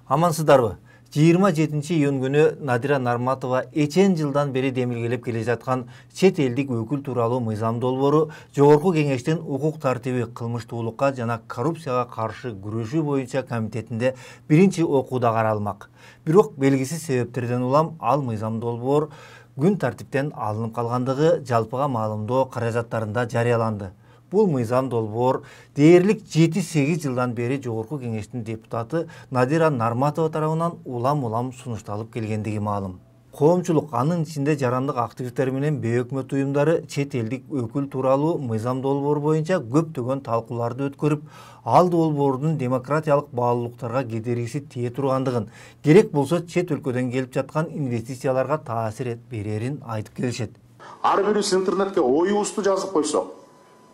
Амансыздарбы? 27-июнь күнү Надира Нарматова эчен жылдан бери демилгелеп келе жаткан чет элдик өкүл тууралуу мыйзам долбоору Жогорку Кеңештин укук тартиби, кылмыштуулукка жана коррупцияга каршы күрөшүү боюнча комитетинде биринчи окууда каралмак. Бирок белгисиз себептерден улам ал мыйзам долбоор күн тартиптен алынып калгандыгы жалпыга маалымдоо каражаттарында жарыяланды. Бул мыйзам долбоор дээрлик 7-8 жылдан бери Жогорку Кеңештин депутаты Надира Нарматова тарабынан улам сунушталып келгендиги маалым. Коомчулук, анын ичинде жарандык активисттер менен бейөкмөт уюмдары чет элдик өкүл тууралуу мыйзам долбоор боюнча көптөгөн талкууларды өткөрүп, ал долбоордун демократиялык баалуулуктарга кедергиси тие тургандыгын, керек болсо чет өлкөдөн келип жаткан инвестицияларга таасир берерин айтып келишет. Ар бирибиз интернетке оюбузду жазып койсок,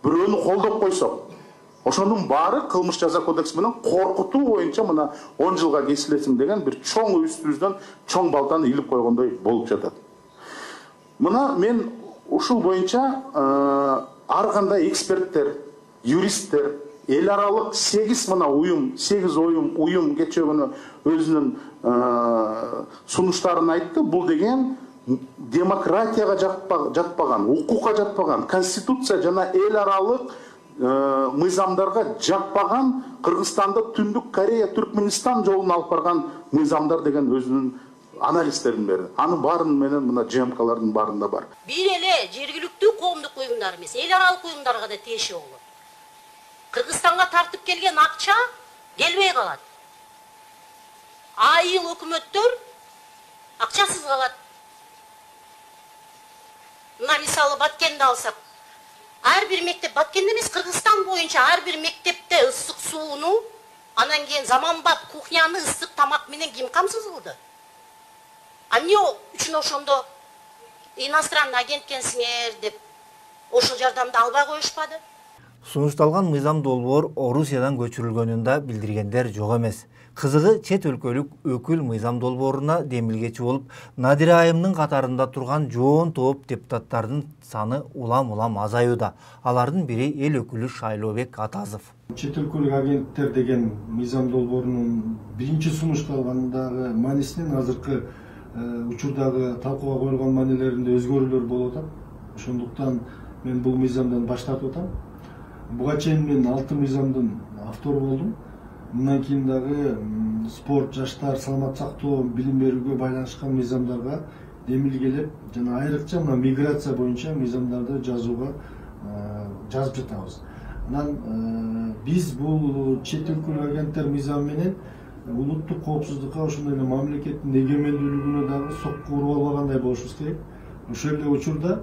бирөөнү колдоп койсок, ошонун баары кылмыш жаза кодекси менен коркутуу боюнча мына 10 жылга кесилесиң деген бир чоң үстүбүздөн чоң балтаны илип койгондой болуп жатат. Мына мен ушул боюнча ар кандай эксперттер, юристтер, эл аралык 8 уюм кечээ күнү өзүнүн сунуштарын айтты. Бул деген демократияга жатпаган, укукка жатпаган, конституция жана эл аралык мыйзамдарга жатпаган, Кыргызстанды Түндүк Корея, Түркмөнстан жолун алып барган мыйзамдар деген өзүнүн анализдерин берди. Анын баарын менен мына ЖМКлардын баарында бар. Бир эле жергиликтүү коомдук уюмдар эмес, эл аралык уюмдарга да тиеши болот. Кыргызстанга тартып келген акча келбей калат. Айыл өкмөттөр акчасыз калат. Мына мисалы Баткенди алсак, ар бир мектеп, Баткенде эмес, Кыргызстан боюнча ар бир мектепте ысык сууну, анан кийин заманбап кухняны ысык тамак менен ким камсыз кылды? Эмне үчүн ошондо иностранный агент экенсиңер деп ошол жардамды албай коюшпады? Сунушталган мыйзам долбоор Орусиядан көчүрүлгөнүн да билдиргендер жок эмес. Кызыгы, чет өлкөлүк өкүл мыйзам долбооруна демилгечи болуп, Надира айымдын катарында турган жоон топ депутаттардын саны улам азаюуда. Алардын бири эл өкүлү Шайлообек Атазов. Чет өлкөлүк агенттер деген мыйзам долбоорунун биринчи сунушталгандагы маанисинен азыркы учурдагы талкууга коюлган маанилеринде өзгөрүүлөр болуп атат. Ошондуктан мен бул мыйзамдан баш тартып атам. Буга чейин мен 6 мыйзамдын автору болдум. Мындан кийин дагы спорт, жаштар, саламат сактоо, билим берүүгө байланышкан мыйзамдарга демилгелеп жана айрыкча мына миграция боюнча мыйзамдарды жазып жатабыз. Анан биз бул чет өлкөлүк агенттер мыйзамы менен улуттук коопсуздукка, ошондой эле мамлекеттин эгемендүүлүгүнө дагы сокку уруп албагандай болушубуз керек. Ошол эле учурда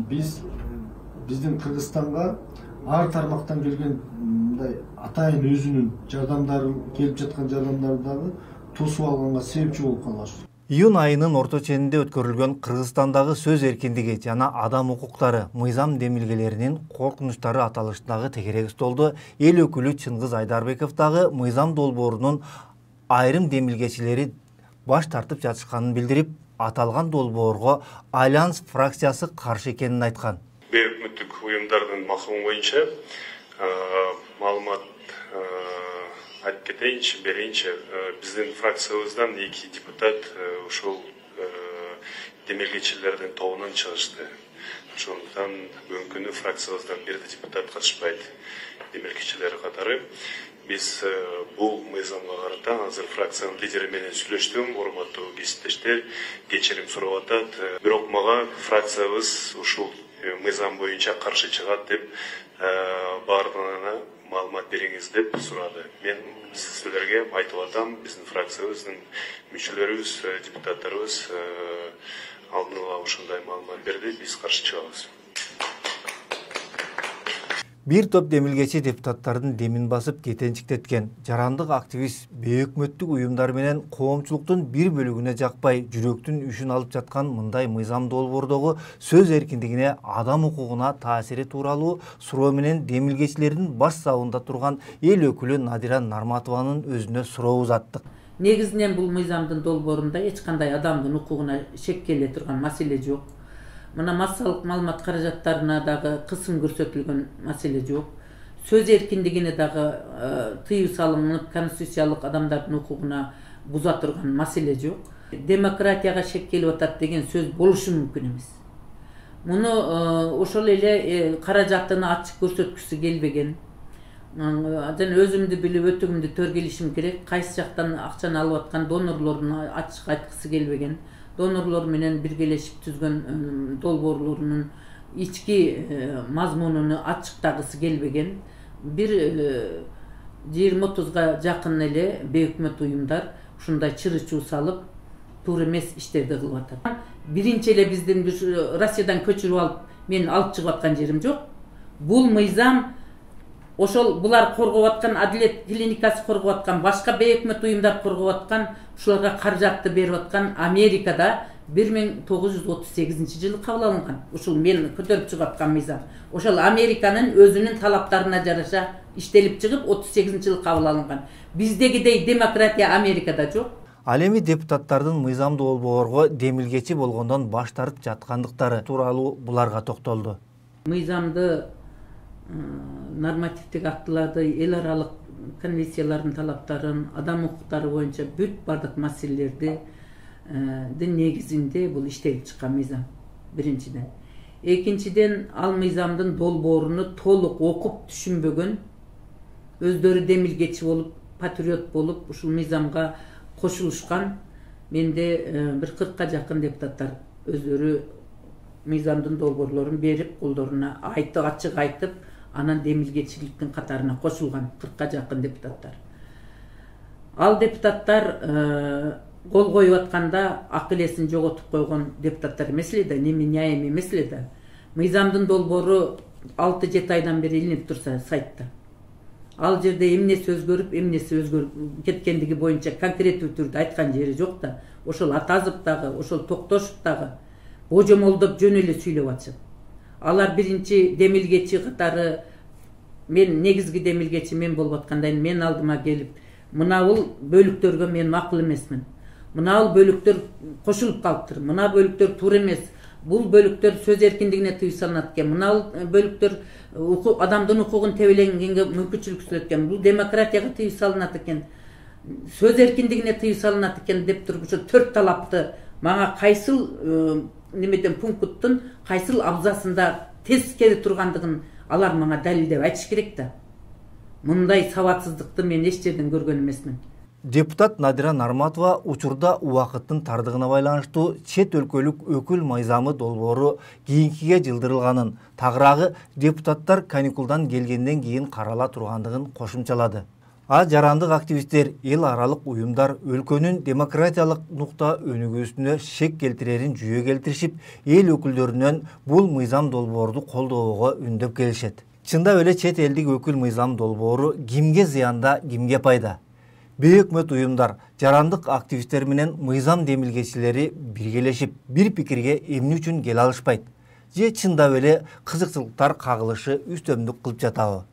биздин Кыргызстанга ар тармактан келген мындай атайын өзүнүн жардамдары, келип жаткан жардамдарды дагы тосуп алганга себепчи болуп калышты. Июнь айынын орто ченинде өткөрүлгөн Кыргызстандагы сөз эркиндиги жана адам укуктары мыйзам демилгелеринин коркунучтары аталыштагы тегерек столдо эл өкүлү Чыңгыз Айдарбеков дагы мыйзам долбоорунун айрым демилгечилери баш тартып жатышканын билдирип, аталган долбоорго Альянс фракциясы каршы экенин айткан. Бейөкмөттүк уюмдардын максымы боюнча маалымат айтып кетейинчи, берейинчи. Биздин фракциябыздан 2 депутат ушул демилгечилердин тобунан чыгышты. Ошондуктан бүгүнкү күнү фракциябыздан бир да депутат катышпайт демилгечилер катары. Биз бул мыйзамга карата азыр фракциянын лидери менен сүйлөштүм, урматтуу кесиптештер, кечирим сурап атат. Бирок мага фракциябыз ушул мыйзам боюнча каршы чыгат деп баардыгына маалымат бериңиз деп сурады. Мен силерге айтып атам, биздин фракциябыздын мүчөлөрүбүз, депутаттарыбыз алдын ала ушундай маалымат берди, биз каршы чыгабыз. Бир топ демилгечи депутаттардын демин басып кетенчиктеткен жарандык активист бейөкмөттүк уюмдар менен коомчулуктун бир бөлүгүнө жакпай жүрөктүн үшүн алып жаткан мындай мыйзам долбоордогу сөз эркиндигине, адам укугуна таасири тууралуу суроо менен демилгечилердин баш сабында турган эл өкүлү Надира Нарматованын өзүнө суроо узаттык. Негизинен бул мыйзамдын долбоорунда эч кандай адамдын укугуна шек келе турган маселе жок. Мына массалык маалымат каражаттарына дагы кысым көрсөтүлгөн маселе жок. сөз эркиндигине дагы тыюу салынып, конституциялык адамдардын укугуна буза турган маселе жок. Демократияга шек келип атат деген сөз болушу мүмкүн эмес. Муну ошол эле каражатыны ачык көрсөткүсү келбеген. Жана өзүмдү билип өтөгүмдү төр келишим керек. Кайсы жактан акчаны алып аткан донорлорун ачык айткысы келбеген. Донорлор менен биргелешип түзгөн долбоорлорунун ички мазмунуну ачыктагысы келбеген. Бир 20-30га жакын эле бейөкмөт уюмдар ушундай чыры-чуу салып, туура эмес иштерди кылып атат. Биринчи эле биздин Россиядан көчүрүп алып, мен алып чыгып аткан жерим жок. Бул мыйзам ошол булар коргоп аткан, адилет клиникасы коргоп аткан, башка бейөкмөт уюмдар коргоп аткан, ушуларга каражатты берип аткан Америкада 1938 жылы кабыл алынган. Ушул мен көтөрүп чыгып аткан мыйзам. Ошол Американын өзүнүн талаптарына жараша иштелип чыгып 38 жылы кабыл алынган. Биздегидей демократия Америкада жок. Ал эми депутаттардын мыйзамдуу долбоорго демилгечи болгондон баш тартып жаткандыктары тууралуу буларга токтолду. Мыйзамды, нормативдик актыларды, эл аралык конвенциялардын талаптарын, адам укуктары боюнча бүт бардык маселелерди негизинде бул иштелип чыккан мыйзам. Биринчиден. Экинчиден, ал мыйзамдын долбооруну толук окуп түшүнбөгөн, өздөрү демилгечи болуп, патриот болуп, ушул мыйзамга кошулушкан менде бир 40ка жакын депутаттар өздөрү мыйзамдын долбоорлорун берип, колдоруна ачык айтып, анан демилгечиликтин катарына кошулган 40ка жакын депутаттар. Ал депутаттар кол коюп атканда акыл эсин жоготуп койгон депутаттар эмес эле да, неменяемый эмес эле да. Мыйзамдын долбоору 6-7 айдан бери илинип турса сайтта. Ал жерде эмнеси өзгөрүп, эмнеси өзгөрүп кеткендиги боюнча конкреттүү түрдө айткан жери жок да. Ошол Атазов дагы, ошол Токтошов дагы божомолдоп жөн эле сүйлөп атышат. Алар биринчи демилгечи катары, мен негизги демилгечи мен болуп аткандан мен алдыма келип, мынабул бөлүктөргө мен макул эмесмин. Мынабул бөлүктөр кошулуп калыптыр. Мына бөлүктөр туура эмес. Бул бөлүктөр сөз эркиндигине тыюу салынат экен. Мына бөлүктөр адамдын укугун тебеленгенге мүмкүнчүлүк сүрөт экен. Бул демократияга тыюу салынат экен. Сөз эркиндигине тыюу салынат экен деп туруп ошо 4 талапты мага кайсыл немеден пункттун кайсыл абзасында тез келе тургандыгын алар мага далилдеп айтыш керек да. Мындай сабатсыздыкты мен эч жерден көргөн эмесмин. Депутат Надира Нарматова учурда убакыттын тардыгына байланыштуу чет өлкөлүк өкүл мыйзамы долбоору кийинкиге жылдырылганын, тагыраагы депутаттар каникулдан келгенден кийин карала тургандыгын кошумчалады. Жарандык активисттер, эл аралык уюмдар өлкөнүн демократиялык нукта өнүгүүсүнө шек келтирерин жүйө келтиришип, эл өкүлдөрүнөн бул мыйзам долбоорду колдоого үндөп келишет. Чындап эле чет элдик өкүл мыйзам долбоору кимге зыянда, кимге пайда? Бейөкмөт уюмдар, жарандык активисттер менен мыйзам демилгечилери биргелешип, бир пикирге эмне үчүн келе алышпайт? Же чындап эле кызыкчылыктар кагылышы үстөмдүк кылып жатабы?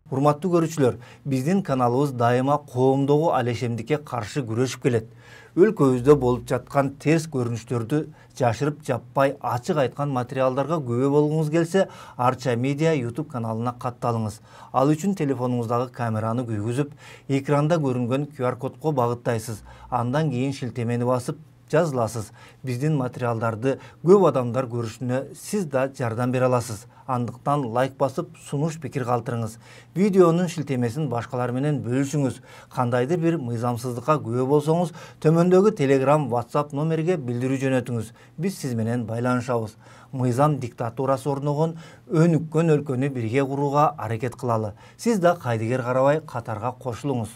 Урматтуу көрүүчүлөр, биздин каналыбыз дайыма коомдогу алешемдикке каршы күрөшүп келет. Өлкөбүздө болуп жаткан терс көрүнүштөрдү жашырып жаппай ачык айткан материалдарга күбө болгуңуз келсе, Арча Медиа YouTube каналына катталыңыз. Ал үчүн телефонуңуздагы камераны күйгүзүп, экранда көрүнгөн QR кодко багыттайсыз. Андан кийин шилтемени басып жазыласыз. Биздин материалдарды көп адамдар көрүшүнө сиз да жардам бере аласыз. Андыктан лайк басып, сунуш пикир калтырыңыз. Видеонун шилтемесин башкалар менен бөлүшүңүз. Кандайдыр бир мыйзамсыздыкка күбө болсоңуз, төмөндөгү Telegram, WhatsApp номерге билдирүү жөнөтүңүз. Биз сиз менен байланышабыз. Мыйзам диктатурасы орногон өнүккөн өлкөнү бирге курууга аракет кылалы. Сиз да кайдыгер карабай катарга кошулуңуз.